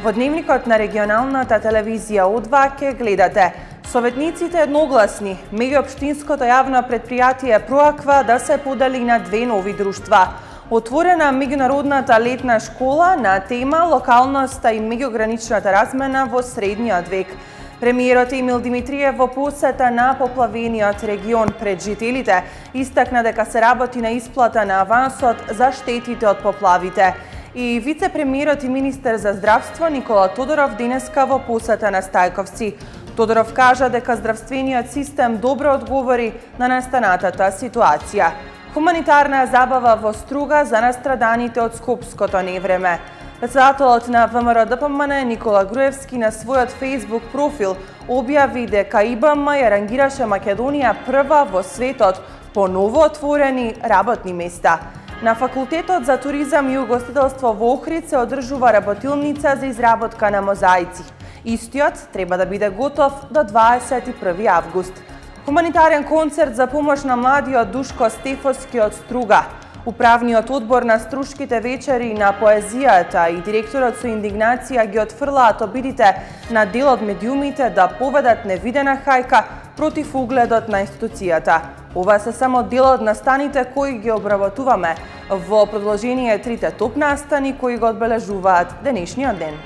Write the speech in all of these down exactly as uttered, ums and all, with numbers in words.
Во дневникот на регионалната телевизија О два ке гледате: советниците едногласни, меѓуопштинското јавно предпријатие Проаква да се подели на две нови друштва. Отворена меѓународната летна школа на тема локалноста и меѓуграничната размена во средниот век. Премиерот Емил Димитриев во посета на поплавениот регион пред жителите истакна дека се работи на исплата на авансот за штетите од поплавите. И вице-премиерот и министер за здравство Никола Тодоров денеска во посета на Стајковци. Тодоров кажа дека здравствениот систем добро одговори на настанатата ситуација. Хуманитарна забава во Струга за настраданите од скопското невреме. Председателот на Вэ Ем Р Д П М Н Никола Груевски на својот Facebook профил објави дека И Б М ја рангираше Македонија прва во светот по новоотворени работни места. На Факултетот за туризам и угостителство во Охрид се одржува работилница за изработка на мозаици. Истиот треба да биде готов до дваесет и први август. Хуманитарен концерт за помош на младиот Душко Стефоски од Струга. Управниот одбор на Струшките вечери на поезијата и директорот со индигнација ги отфрлаат обидите на дел од медиумите да поведат невидена хајка против угледот на институцијата. Ова се само дел од настаните кои ги обработуваме во продолжение трите топ настани кои го одбележуваат денешниот ден.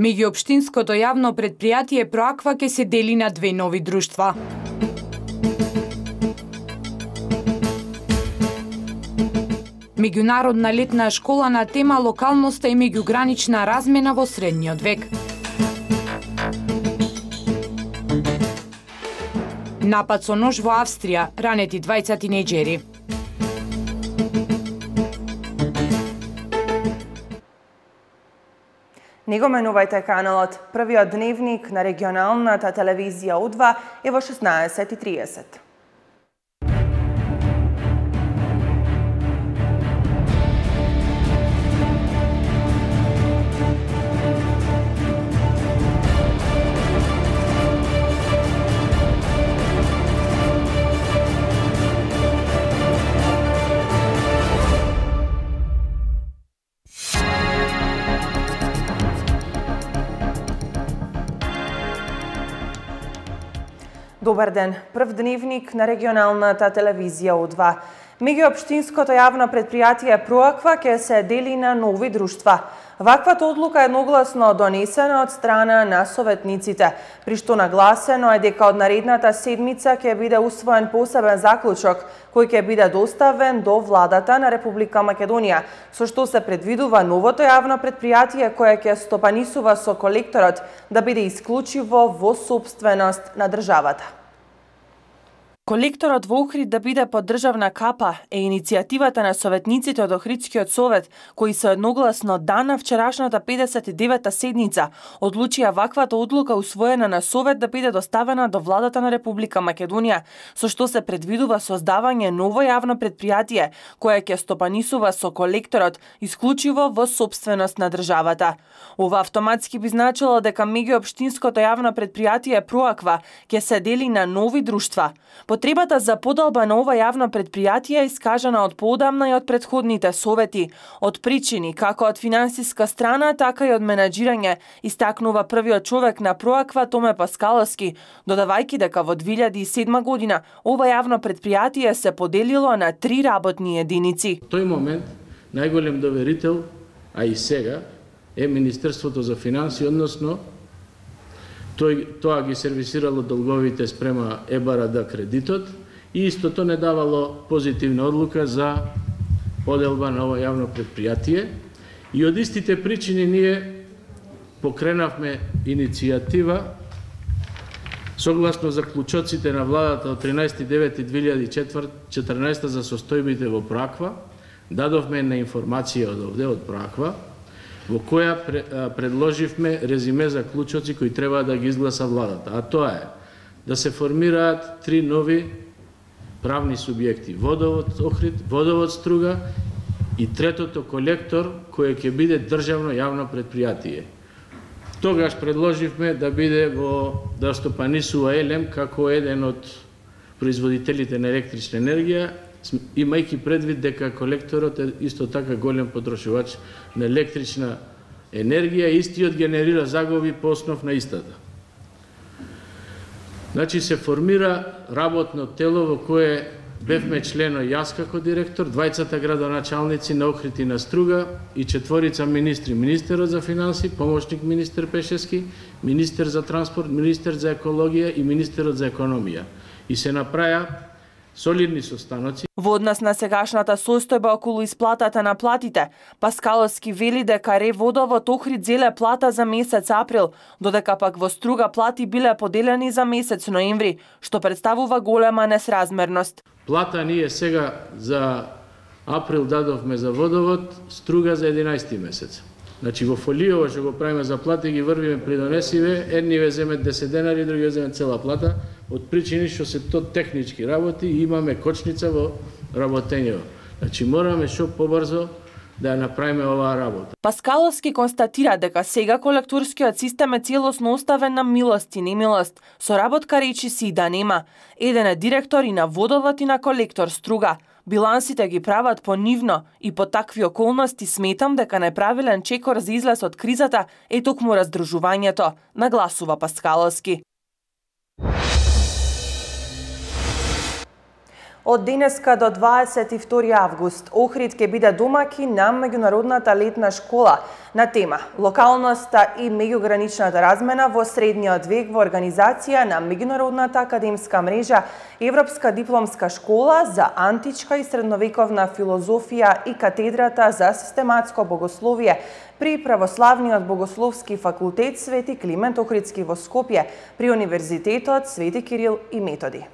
Меѓуопштинското јавно предпријатие Проаква ќе се дели на две нови друштва. Меѓународна летна школа на тема локалноста и меѓугранична размена во средниот век. Напад со нож во Австрија, ранети двајца тинејџери. Не го менувајте каналот. Првиот дневник на регионалната телевизија О два е во шеснаесет и триесет. Добар ден. Прв дневник на регионалната телевизија О два. Меѓуопштинското јавно предпријатие Проаква ќе се дели на нови друштва. Ваквата одлука е едногласно донесена од страна на советниците, при што нагласено е дека од наредната седмица ќе биде усвоен посебен заклучок кој ќе биде доставен до владата на Република Македонија, со што се предвидува новото јавно предпријатие кое ќе стопанисува со колекторот да биде исклучиво во сопственост на државата. Колекторот во Охрид да биде под државна капа е иницијативата на советниците од Охридскиот совет, кои се едногласно дан на вчерашната педесет и девета седница одлучија ваквата одлука усвоена на совет да биде доставена до владата на Република Македонија, со што се предвидува создавање ново јавно предпријатие кое ќе стопанисува со колекторот исклучиво во сопственост на државата. Ова автоматски би значило дека меѓуопштинското јавно предпријатие Проаква ќе се дели на нови друштва. Потребата за подолба на ова јавно предпријатие е искажана од поодамна и од претходните совети, од причини како од финансиска страна, така и од менаџирање, истакнува првиот човек на Проаква Томе Паскаловски, додавајќи дека во две илјади и седма година ова јавно предпријатие се поделило на три работни единици. Тој момент најголем доверител, а и сега, е Министерството за финансии, односно Тој, тоа ги сервисирало долговите спрема Е Б Р Д кредитот и истото не давало позитивна одлука за поделба на ова јавно предпријатие. И од истите причини ние покренавме иницијатива согласно заклучоците на владата од тринаесети девети две илјади и четрнаесета за состојбите во Проаква. Дадовме на информација од овде, од Проаква, во која предложивме резиме за клучоци кои треба да ги изгласа владата. А тоа е да се формираат три нови правни субјекти: Водовод Охрид, Водовод Струга и третото колектор кој ќе биде државно јавно предпријатие. Тогаш предложивме да биде во да стопанисува Елем како еден од производителите на електрична енергија имајќи предвид дека колекторот е исто така голем потрошувач на електрична енергија, истиот генерира загуби по основ на истата. Значи се формира работно тело во кое бевме члено јас како директор, двајцата градоначалници на Охрид и на Струга и четворица министри, министерот за финанси, помошник министер Пешески, министер за транспорт, министер за екологија и министерот за економија. И се направија солидни состаноци. Во однос на сегашната состојба околу исплатата на платите, Паскаловски вели дека Реводовод Охрид зеле плата за месец април, додека пак во Струга плати биле поделени за месец ноември, што представува голема несразмерност. Плата ние сега за април дадовме за водовод, Струга за единаесети месец. Значи во фолиово што го правиме за плати ги врвиме придонесиве, едни ве земат десет денари, други ве земат цела плата, од причини што се то технички работи и имаме кочница во работењето. Значи мораме што побрзо да ја направиме оваа работа. Паскаловски констатира дека сега колекторскиот систем е целосно оставен на милост и немилост, со работка речи си и да нема. Еден е директор и на водовод и на колектор Струга. Билансите ги прават понивно и по такви околности сметам дека неправилен чекор за излез од кризата е токму раздружувањето, нагласува Паскаловски. Од денеска до дваесет и втори август Охрид ќе биде домаќин на меѓународната летна школа на тема локалноста и меѓуграничната размена во средниот век во организација на меѓународната академска мрежа Европска дипломска школа за античка и средновековна филозофија и катедрата за систематско богословие при Православниот богословски факултет Свети Климент Охридски во Скопје при Универзитетот Свети Кирил и Методи.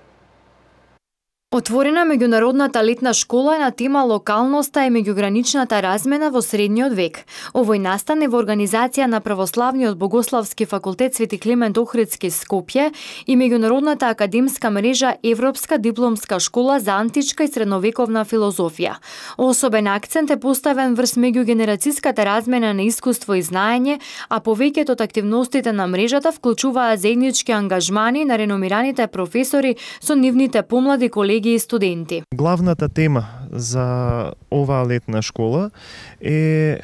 Отворена меѓународната летна школа е на тема локалноста и меѓуграничната размена во средниот век. Овој настан е во организација на Православниот богословски факултет Свети Климент Охридски Скопје и меѓународната академска мрежа Европска дипломска школа за античка и средновековна филозофија. Особен акцент е поставен врз меѓугенерацијската размена на искуство и знаење, а повеќето од активностите на мрежата вклучуваат заеднички ангажмани на реномираните професори со нивните помлади колеги и студенти. Главната тема за оваа летна школа е, е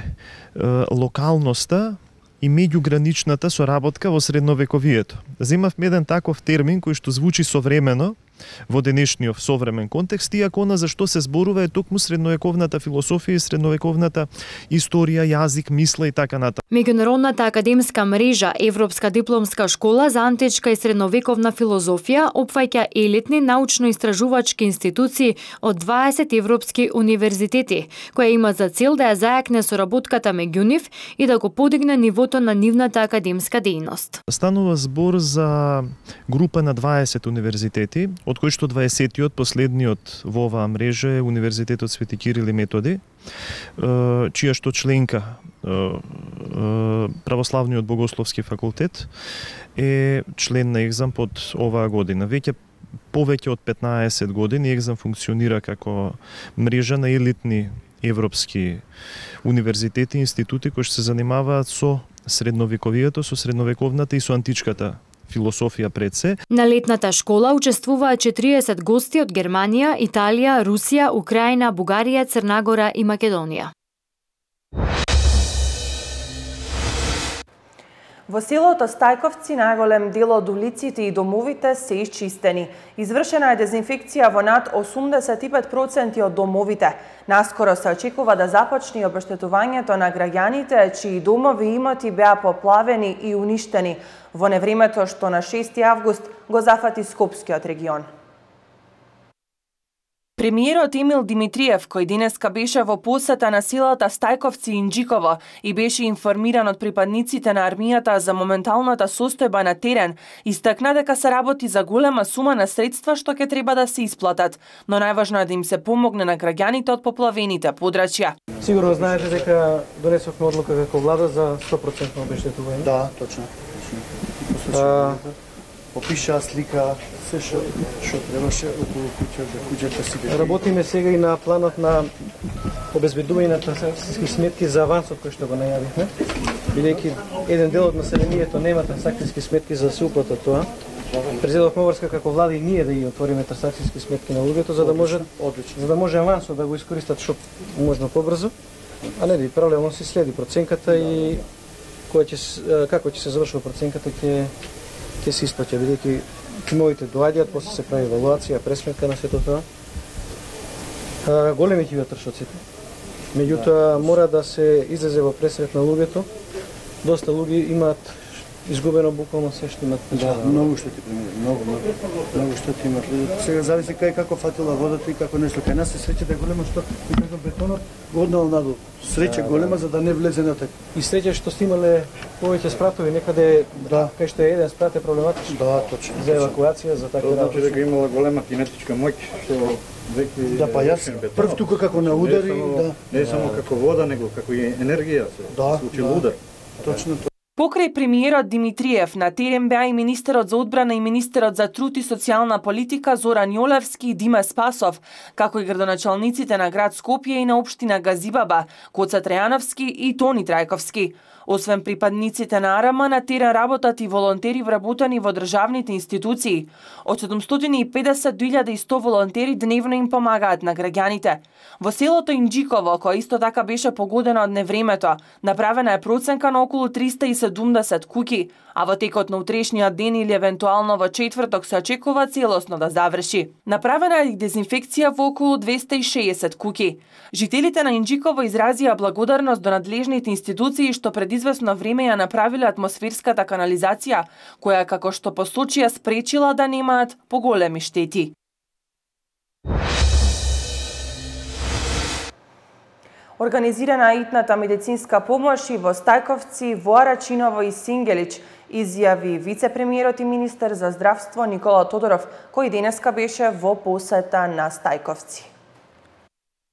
локалноста и меѓуграничната соработка во средновековието. Земавме еден таков термин кој што звучи современо во денешниот современ контекст, иако на зашто се зборува е токму средновековната философија и средновековната историја, јазик, мисла и така натаму. Меѓународната академска мрежа Европска дипломска школа за античка и средновековна филозофија опфаќа елитни научно-истражувачки институции од дваесет европски универзитети, која има за цел да ја зајакне соработката меѓу нив и да го подигне нивото на нивната академска дејност. Станува збор за група на дваесет универзитети, од кои што дваесетиот, последниот во оваа мрежа е Универзитетот Свети Кирил и Методи, чија што членка Православниот богословски факултет е член на Екзам под оваа година. Веќе повеќе од петнаесет години Екзам функционира како мрежа на елитни европски универзитети и институти кои што се занимаваат со средновековието, со средновековната и со античката философија пред се. На летната школа учествуваат четириесет гости од Германија, Италија, Русија, Украина, Бугарија, Црнагора и Македонија. Во селото Стајковци најголем дел од улиците и домовите се исчистени. Извршена е дезинфекција во над осумдесет и пет проценти од домовите. Наскоро се очекува да започне обештетувањето на граѓаните чии домови и имоти беа поплавени и уништени во невремето што на шести август го зафати Скопскиот регион. Премиерот Емил Димитриев, кој денеска беше во посета на селата Стајковци и Инџиково и беше информиран од припадниците на армијата за моменталната состојба на терен, истакна дека се работи за голема сума на средства што ќе треба да се исплатат, но најважно е да им се помогне на граѓаните од поплавените подрачја. Сигурно знаете дека донесовме одлука како влада за сто проценти обештетување. Да, точно. точно. Попиша слика, се што што требаше околу куќата, куќата си. Работиме сега и на планот на обезбедување на трансакциски сметки за авансот кој што го најавивме. Бидејќи еден дел од населението нема трансакциски сметки за да се уплата тоа. Презедовме обврска како влада и ние да ги отвориме трансакцијски сметки на луѓето за да може одлично, за да може авансот да го искористат што можно побрзо, а не да и паралелно се следи проценката и која ќе како ќе се завршува проценката ќе ќе се исплаќа, бидејќи тимовите доаѓаат, после се прави евалуација, пресметка на сето тоа. А, големи ќе бидат трошоците. Меѓутоа мора да се излезе во пресрет на луѓето. Доста луѓе имаат изгубено буквално се што имаат. Да, многу што ти премине, многу, многу, многу што ти имаат. Сега зависи кај како фатила водата и како нешто. Кај нас се среќата голема што и како бетонот го однал надолу. Среќа голема за да не влезе на така. И среќа што сте имале повеќе спратови некаде да. Кај што е еден спрат е проблематичен. Да, точно. За евакуација, за така работи. Значи дека имала голема кинетичка моќ што веќе да, па јас прв тука како на удари, не само, да. Не само како вода, него како и енергија се да, случил да. удар. Точно тоа. Покрај премиерот Димитриев, на терен беа и министерот за одбрана и министерот за труд и социјална политика Зоран Јолевски и Дима Спасов, како и градоначалниците на град Скопје и на општина Газибаба, Коца Трајановски и Тони Трајковски. Освен припадниците на АРАМ, на терен работат и волонтери вработени во државните институции. Од седумстотини и педесет до илјада и сто волонтери дневно им помагаат на граѓаните. Во селото Инџиково, кој исто така беше погодено од невремето, направена е проценка на околу триста и седумдесет куќи, а во текот на утрешниот ден или евентуално во четврток се очекува целосно да заврши. Направена е и дезинфекција во околу двесте и шеесет куќи. Жителите на Инџиково изразија благодарност до надлежните институции што пред известно време ја направиле атмосферската канализација, која, како што посочија, спречила да немаат поголеми штети. Организирана итната медицинска помош и во Стајковци, во Арачиново и Сингелич, изјави вице-премиерот и министер за здравство Никола Тодоров, кој денеска беше во посета на Стајковци.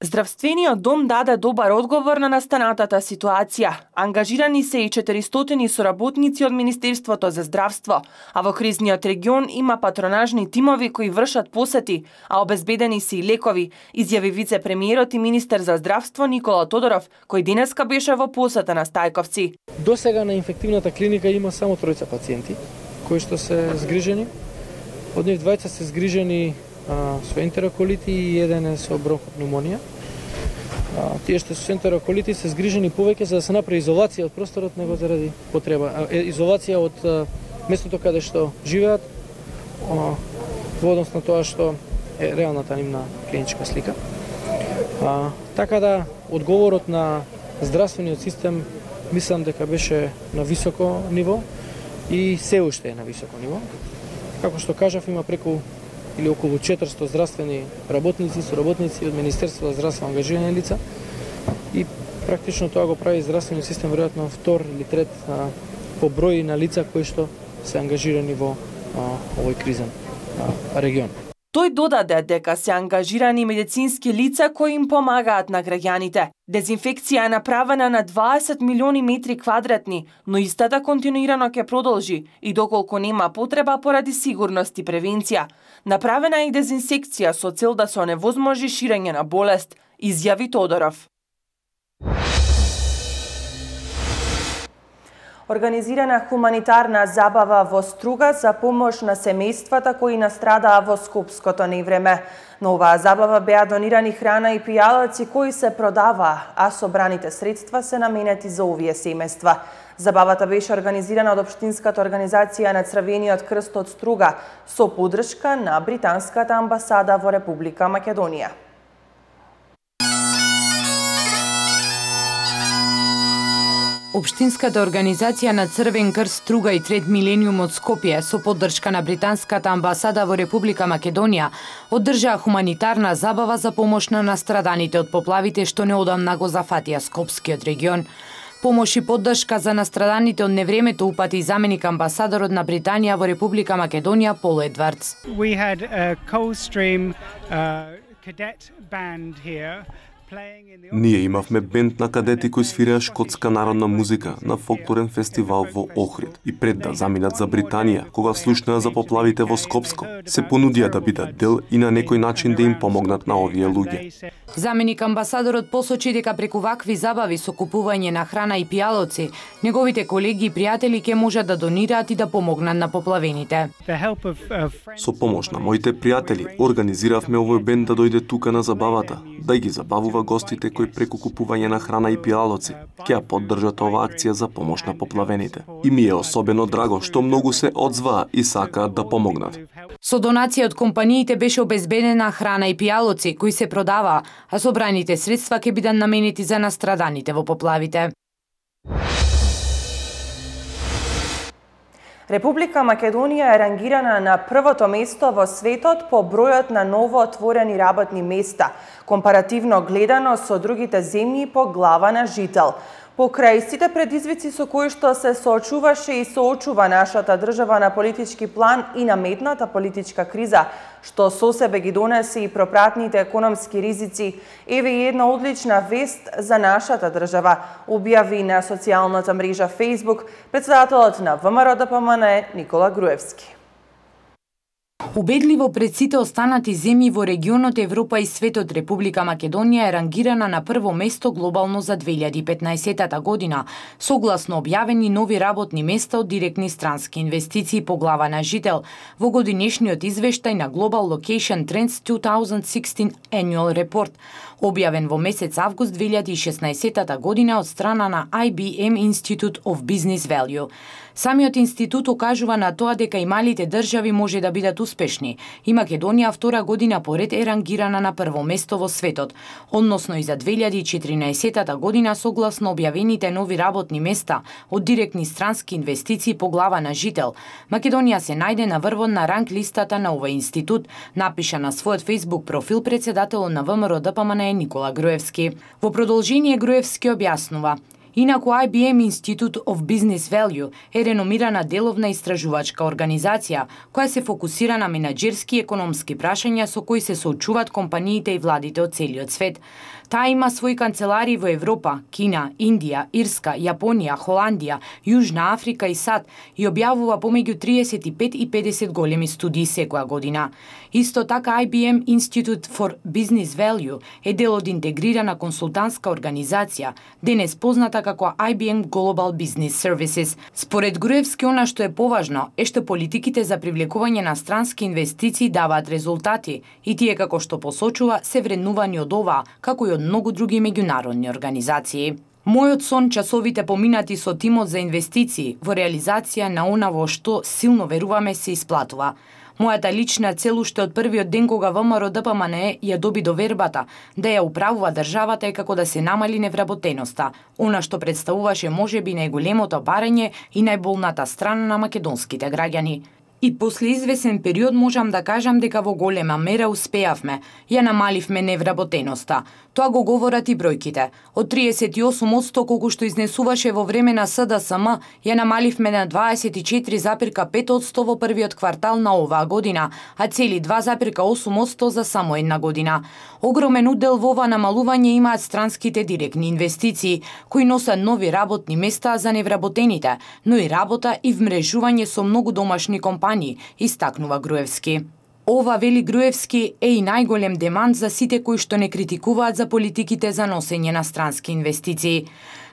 Здравствениот дом даде добар одговор на настанатата ситуација. Ангажирани се и четиристотини соработници од Министерството за здравство, а во кризниот регион има патронажни тимови кои вршат посети, а обезбедени се и лекови, изјави вице-премиерот и министер за здравство Никола Тодоров, кој денеска беше во посета на Стајковци. До сега на инфективната клиника има само тројца пациенти кои што се згрижени. Од нив двајца се згрижени а, со ентероколити и еден е со бронхопневмонија. А, тие што се ентероколити се згрижени повеќе за да се направи изолација од просторот него заради потреба. А, е, изолација од а, местото каде што живеат, а, во однос на тоа што е реалната нивна клиничка слика. А, така да, одговорот на здравствениот систем мислам дека беше на високо ниво и се уште е на високо ниво. Како што кажав, има преку или околу четиристо здравствени работници, соработници од Министерството за здравство ангажирани лица и практично тоа го прави здравствениот систем веројатно втор или трет а, по број на лица кои што се ангажирани во а, овој кризен а, регион. Тој додаде дека се ангажирани медицински лица кои им помагаат на граѓаните. Дезинфекција е направена на дваесет милиони метри квадратни, но истата континуирано ќе продолжи и доколку нема потреба поради сигурност и превенција. Направена е и дезинсекција со цел да се оневозможи ширење на болест, изјави Тодоров. Организирана хуманитарна забава во Струга за помош на семејствата кои настрадаа во скопското невреме. На оваа забава беа донирани храна и пијалаци кои се продаваа, а собраните средства се наменети за овие семејства. Забавата беше организирана од Општинската организација на Црвениот крст од Струга со поддршка на Британската амбасада во Република Македонија. Општинската организација на Црвен крст Струга и Трет милениум од Скопје со поддршка на Британската амбасада во Република Македонија одржаа хуманитарна забава за помош на настраданите од поплавите што неодамна го зафатија Скопскиот регион. Помош и поддршка за настраданите од невремето упати и заменик амбасадорот на Британија во Република Македонија Пол Едвардс. We had a Coldstream uh, cadet band here Ние имавме бенд на кадети кои свираа шкотска народна музика на фолклорен фестивал во Охрид и пред да заминат за Британија, кога слушнаа за поплавите во Скопско, се понудија да бидат дел и на некој начин да им помогнат на овие луѓе. Заменик амбасадорот посочи дека преку вакви забави со купување на храна и пијалоци, неговите колеги и пријатели ќе можат да донираат и да помогнат на поплавените. Со помош на моите пријатели организиравме овој бенд да дојде тука на забавата, да ги забавува гостите кои преку купување на храна и пијалоци ќе ја поддржат оваа акција за помош на поплавените. И ми е особено драго што многу се одзваа и сакаат да помогнат. Со донација од компаниите беше обезбедена храна и пијалоци кои се продаваа, а собраните средства ќе бидат наменети за настраданите во поплавите. Република Македонија е рангирана на првото место во светот по бројот на ново отворени работни места, компаративно гледано со другите земји по глава на жител. Покрај сите предизвици со кои што се соочуваше и соочува нашата држава на политички план и наметната политичка криза, што со себе ги донесе и пропратните економски ризици, еве и една одлична вест за нашата држава, објави на социјалната мрежа Facebook председателот на ВМРО-ДПМНЕ Никола Груевски. Убедливо пред сите останати земји во регионот Европа и светот, Република Македонија е рангирана на прво место глобално за две илјади и петнаесетта година, согласно објавени нови работни места од директни странски инвестиции по глава на жител во годинешниот извештај на Global Location Trends две илјади и шеснаесет Annual Report, објавен во месец август две илјади и шеснаесетта година од страна на I B M Institute of Business Value. Самиот институт окажува на тоа дека и малите држави може да бидат успешни и Македонија втора година поред е рангирана на прво место во светот, односно и за две илјади и четиринаесетта година согласно објавените нови работни места од директни странски инвестиции по глава на жител. Македонија се најде на врвот на ранг листата на овој институт, напиша на својот Facebook профил председателот на ВМРО-ДПМНЕ Никола Груевски. Во продолжение Груевски објаснува: Инаку I B M Institute of Business Value е реномирана деловна истражувачка организација која се фокусира на менаџерски и економски прашања со кои се соочуваат компаниите и владите од целиот свет. Таа има своји канцеларии во Европа, Кина, Индија, Ирска, Јапонија, Холандија, Јужна Африка и САД и објавува помеѓу триесет и пет и педесет големи студии секоја година. Исто така I B M Institute for Business Value е дел од интегрирана консултантска организација, денес позната како I B M Global Business Services. Според Груевски, она што е поважно е што политиките за привлекување на странски инвестиции даваат резултати и тие, како што посочува, се вреднувани од ова, како и од многу други меѓународни организации. Мојот сон часовите поминати со тимот за инвестиции во реализација на она во што силно веруваме се исплатува. Мојата лична цел уште од првиот ден кога ВМРО-ДПМНЕ ја доби довербата да ја управува државата е како да се намали невработеноста, она што представуваше можеби најголемото барање и најболната страна на македонските граѓани. И после извесен период можам да кажам дека во голема мера успеавме, ја намаливме невработеноста. Тоа го говорат и бројките. Од триесет и осум одсто колку што изнесуваше во време на С Д С М, ја намаливме на дваесет и четири зарез пет одсто во првиот квартал на оваа година, а цели два зарез осум одсто за само една година. Огромен удел во ова намалување имаат странските директни инвестиции, кои носат нови работни места за невработените, но и работа и вмрежување со многу домашни компании, истакнува Груевски. Ова, вели Груевски, е и најголем демант за сите кои што не критикуваат за политиките за носење на странски инвестиции.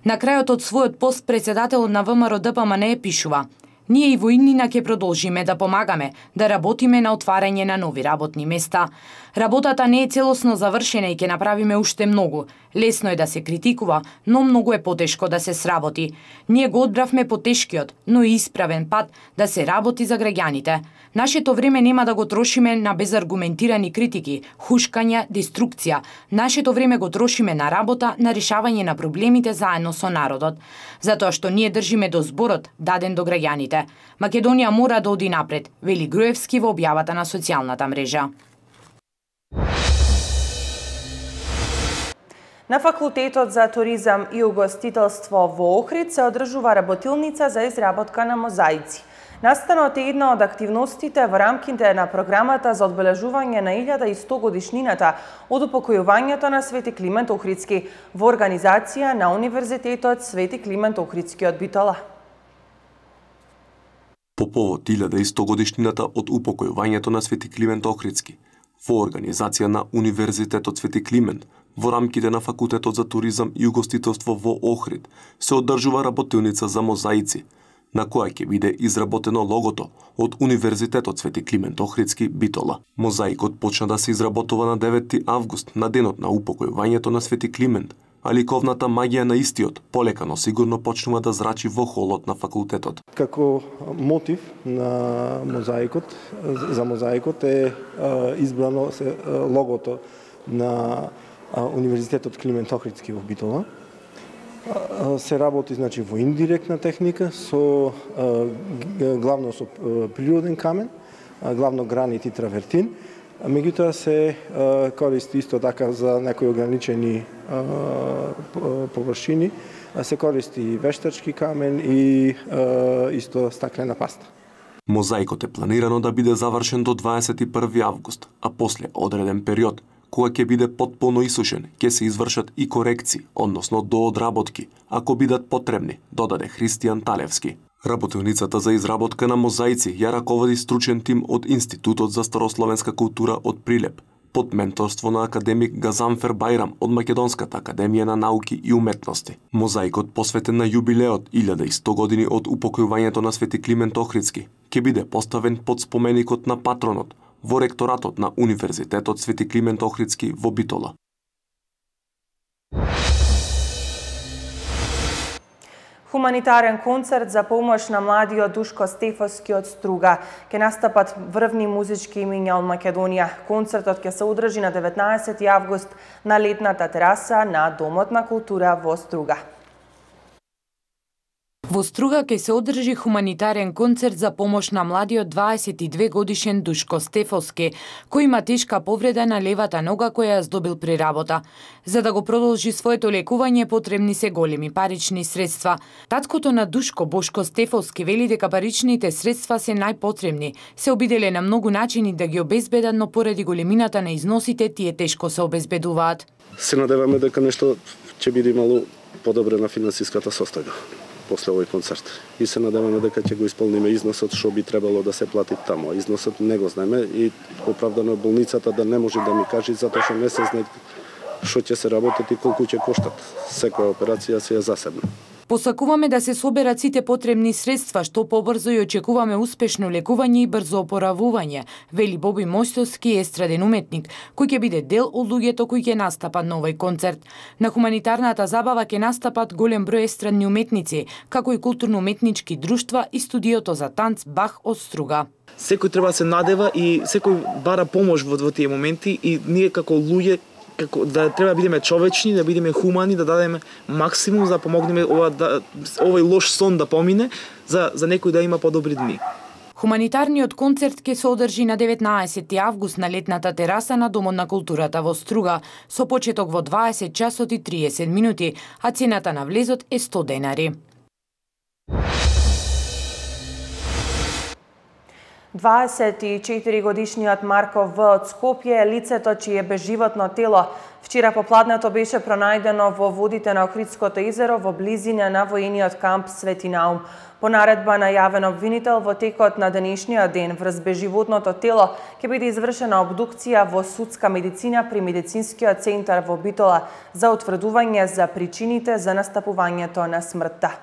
На крајот од својот пост председателот на ВМРО-ДПМНЕ пишува: Ние и во иднина ќе продолжиме да помагаме, да работиме на отварање на нови работни места. Работата не е целосно завршена и ќе направиме уште многу. Лесно е да се критикува, но многу е потешко да се сработи. Ние го одбравме потешкиот, но и исправен пат да се работи за граѓаните. Нашето време нема да го трошиме на безаргументирани критики, хушкања, деструкција. Нашето време го трошиме на работа, на решавање на проблемите заедно со народот. Затоа што ние држиме до зборот даден до граѓаните. Македонија мора да оди напред, вели Груевски во објавата на социјалната мрежа. На Факултетот за туризам и угостителство во Охрид се одржува работилница за изработка на мозаици. Настанот е една од активностите во рамките на програмата за одбележување на илјада и сто годишнината од упокојувањето на Свети Климент Охридски во организација на Универзитетот Свети Климент Охридски од Битола. По повод илјада и сто годишнината од упокојувањето на Свети Климент Охридски, во организација на Универзитетот Свети Климент, во рамките на Факултетот за туризам и угостителство во Охрид, се одржува работилница за мозаици, на која ќе биде изработено логото од Универзитетот Свети Климент Охридски Битола. Мозаикот почна да се изработува на девети август, на денот на упокојувањето на Свети Климент, а ликовната магија на истиот полека, но сигурно почнува да зрачи во холот на факултетот. Како мотив на мозаикот, за мозаикот е избрано логото на Универзитетот Климент Охридски во Битола. Се работи значи во индиректна техника со главно со природен камен, главно гранит и травертин. Меѓутоа се користи исто така за некои ограничени површини, се користи вештачки камен и исто стаклена паста. Мозаикот е планирано да биде завршен до дваесет и први август, а после одреден период, кога ќе биде потполно исушен, ќе се извршат и корекции, односно доодработки, ако бидат потребни, додаде Христијан Талевски. Работилницата за изработка на мозаици ја раководи стручен тим од Институтот за старословенска култура од Прилеп, под менторство на академик Газанфер Бајрам од Македонската академија на науки и уметности. Мозаикот посветен на јубилеот илјада и сто години од упокојувањето на Свети Климент Охридски ќе биде поставен под споменикот на патронот во ректоратот на Универзитетот Свети Климент Охридски во Битола. Хуманитарен концерт за помош на младиот Душко Стефовски од Струга. Ке настапат врвни музички имиња од Македонија. Концертот ќе се одржи на деветнаесети август на летната тераса на Домот на култура во Струга. Во Струга ќе се одржи хуманитарен концерт за помош на младиот дваесет и две годишен Душко Стефовски, кој има тешка повреда на левата нога која ја здобил при работа. За да го продолжи своето лекување потребни се големи парични средства. Таткото на Душко, Бошко Стефовски, вели дека паричните средства се најпотребни. Се обиделе на многу начини да ги обезбедат, но поради големината на износите тие тешко се обезбедуваат. Се надеваме дека нешто ќе биде мало подобрена финансиската состојба после овој концерт. И се надеваме дека ќе го исполниме износот што би требало да се плати таму. Износот не го знаеме и оправдано болницата да не може да ми каже затоа што не се знае што ќе се работат и колку ќе коштат. Секоја операција си е засебна. Посакуваме да се соберат сите потребни средства, што побрзо и очекуваме успешно лекување и брзо опоравување, вели Боби Мојстовски, естраден уметник, кој ќе биде дел од луѓето кои ќе настапат на овој концерт. На хуманитарната забава ќе настапат голем број естрадни уметници, како и културно-уметнички друштва и студиото за танц Бах од Струга. Секој треба да се надева и секој бара помош во, во тие моменти и ние како луѓе како да треба да бидеме човечни, да бидеме хумани, да дадеме максимум за да помогнеме ова да овој лош сон да помине, за за некој да има подобри дни. Хуманитарниот концерт ќе се одржи на деветнаесети август на летната тераса на Домот на културата во Струга, со почеток во дваесет часот и триесет минути, а цената на влезот е сто денари. дваесет и четири годишниот Марко В од Скопје е лицето чие безживотно тело вчера попладнето беше пронајдено во водите на Охридското езеро во близина на воениот камп Свети Наум. По наредба на јавен обвинител во текот на денешниот ден врз безживотното тело ќе биде извршена обдукција во судска медицина при медицинскиот центар во Битола за утврдување за причините за настапувањето на смртта.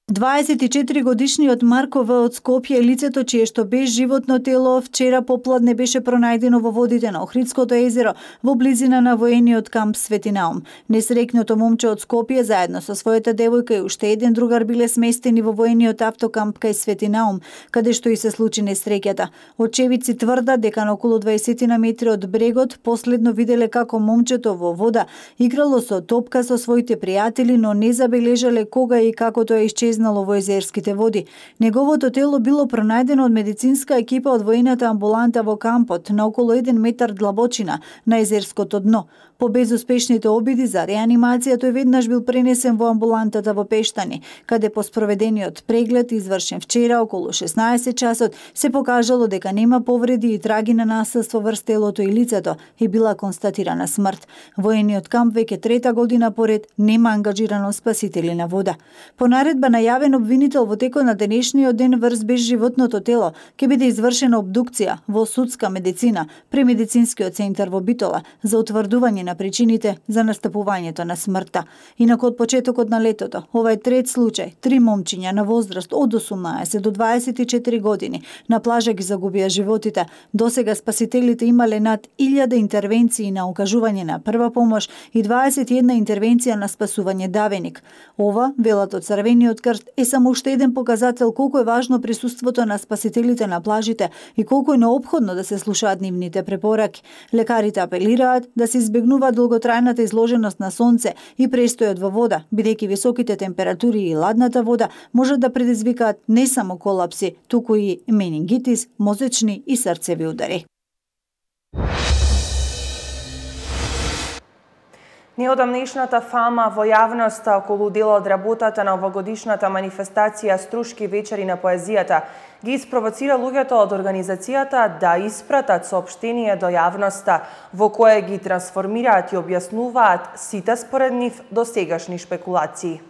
дваесет и четири годишниот Марко В од Скопје, лицето чие што без животно тело вчера попладне беше пронајдено во водите на Охридското езеро во близина на воениот камп Свети Наум. Несреќното момче од Скопје заедно со својата девојка и уште еден другар биле сместени во воениот автокамп кај Свети Наум, каде што и се случи несреќата. Очевидци тврдат дека на околу дваесет на метри од брегот последно виделе како момчето во вода играло со топка со своите пријатели, но не забележале кога и како тоа исчезнало во езерските води. Неговото тело било пронајдено од медицинска екипа од воената амбуланта во кампот на околу еден метар длабочина на езерското дно. По безуспешните обиди за реанимација тој веднаш бил пренесен во амбулантата во Пештани, каде по спроведениот преглед извршен вчера околу шеснаесет часот се покажало дека нема повреди и траги на насилство врз телото и лицето и била констатирана смрт. Воениот камп веќе трета година поред нема ангажирано спасители на вода. По наредба на јавен обвинител во текот на денешниот ден врз безживотното тело ќе биде извршена обдукција во судска медицина при медицинскиот центар во Битола за утврдување на причините за настапувањето на смртта. Инаку од почетокот на летото, ова е трет случај, три момчиња на возраст од осумнаесет до дваесет и четири години на плажа ги загубија животите. Досега спасителите имале над илјада интервенции на укажување на прва помош и дваесет и една интервенција на спасување давеник. Ова, велат од Црвениот крст, е само уште еден показател колку е важно присуството на спасителите на плажите и колку е неопходно да се слушаат нивните препораки. Лекарите апелираат да се избегнува долготрајната изложеност на сонце и престојот во вода, бидејќи високите температури и ладната вода можат да предизвикаат не само колапси, туку и менингитис, мозечни и срцеви удари. Неодамнешната фама во јавноста околу дел од работата на овогодишната манифестација Струшки вечери на поезијата ги испровоцира луѓето од организацијата да испратат соопштение до јавноста во кое ги трансформираат и објаснуваат сите според нив досегашни шпекулации.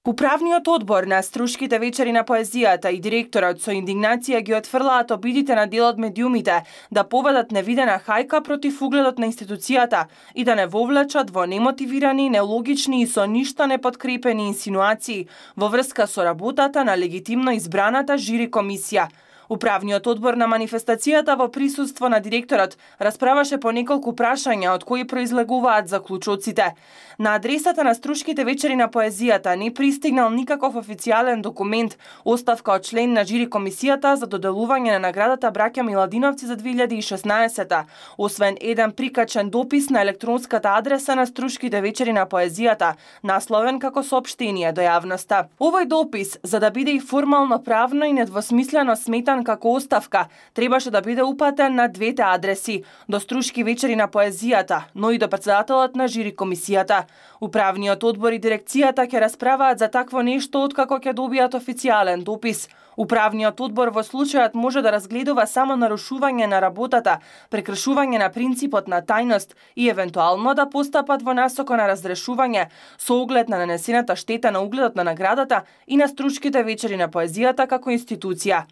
Управниот одбор на Струшките вечери на поезијата и директорот со индигнација ги отфрлаат обидите на дел од медиумите да поведат невидена хајка против угледот на институцијата и да не вовлечат во немотивирани, нелогични и со ништо неподкрепени инсинуации во врска со работата на легитимно избраната жири комисија. Управниот одбор на манифестацијата во присуство на директорот расправаше по неколку прашања од кои произлегуваат заклучоците. На адресата на Струшките вечери на поезијата не пристигнал никаков официјален документ, оставка од член на жири комисијата за доделување на наградата Браќа Миладиновци за две илјади и шеснаесета, освен еден прикачен допис на електронската адреса на Струшките вечери на поезијата, насловен како соопштение до јавноста. Овој допис, за да биде и формално правно и недвосмислено сметан како оставка, требаше да биде упатен на двете адреси, до Струшки вечери на поезијата, но и до претседателот на жири комисијата. Управниот одбор и дирекцијата ќе расправаат за такво нешто откако ќе добијат официјален допис. Управниот одбор во случајот може да разгледува само нарушување на работата, прекршување на принципот на тајност и евентуално да постапат во насока на разрешување со оглед на нанесената штета на угледот на наградата и на Струшките вечери на поезијата како институција.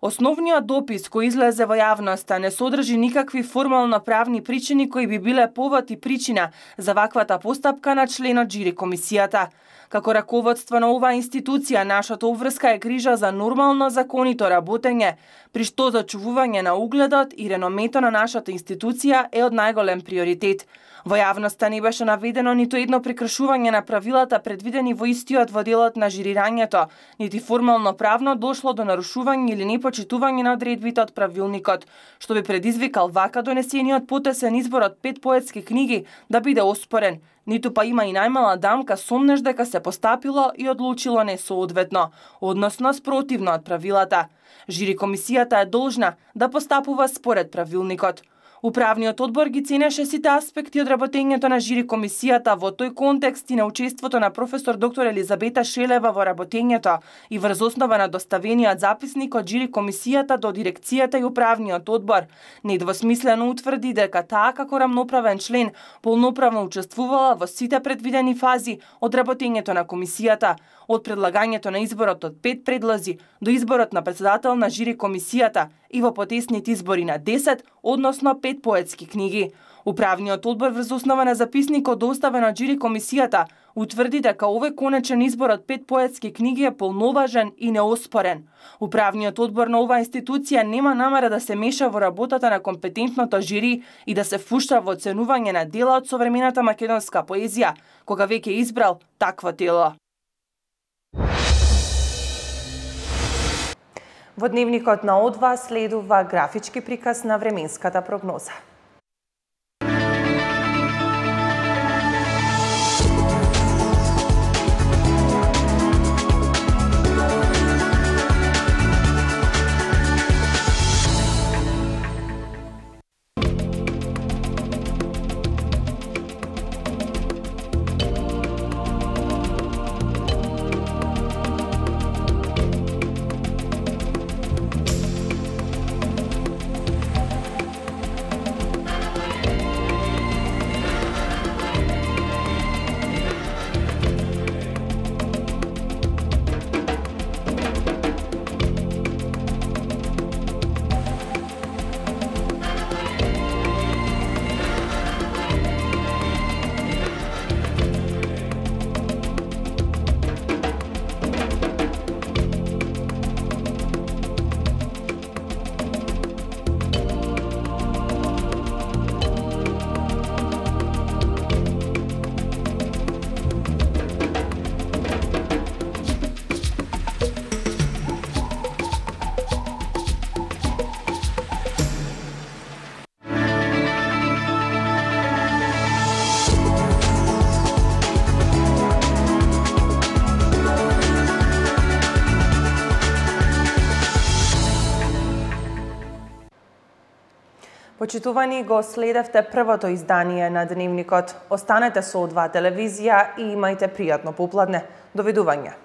Основниот допис кој излезе во јавноста не содржи никакви формално правни причини кои би биле повод и причина за ваквата постапка на членот жири комисијата. Како раководство на оваа институција, нашата обврска е грижа за нормално законито работење, при што зачувување на угледот и реномето на нашата институција е од најголем приоритет. Во јавноста не беше наведено ниту едно прекршување на правилата предвидени во истиот во делот на жирирањето, нити формално правно дошло до нарушување или непочитување на одредбите од правилникот, што би предизвикал вака донесениот потесен избор од пет поетски книги да биде оспорен, ниту па има и најмала дамка сомнеш дека се постапило и одлучило несоодветно, односно спротивно од правилата. Жири комисијата е должна да постапува според правилникот. Управниот одбор ги ценеше сите аспекти од работењето на жири комисијата во тој контекст и на учеството на професор доктор Елизабета Шелева во работењето и врз основа на доставениот записник од жири комисијата до дирекцијата и управниот одбор. Недвосмислено утврди дека таа како рамноправен член полноправно учествувала во сите предвидени фази од работењето на комисијата, од предлагањето на изборот од пет предлози до изборот на председател на жири комисијата и во потесните избори на десет, односно пет поетски книги. Управниот одбор врз основа на записникот доставен од жири комисијата утврди дека овој конечен избор од пет поетски книги е полноважен и неоспорен. Управниот одбор на оваа институција нема намера да се меша во работата на компетентното жири и да се впушта во оценување на дела од современата македонска поезија, кога веќе избрал такво тело. Во дневникот на О два следува графички приказ на временската прогноза. Почитувани, го следевте првото издание на Дневникот. Останете со О два телевизија и имајте пријатно попладне. Довидување.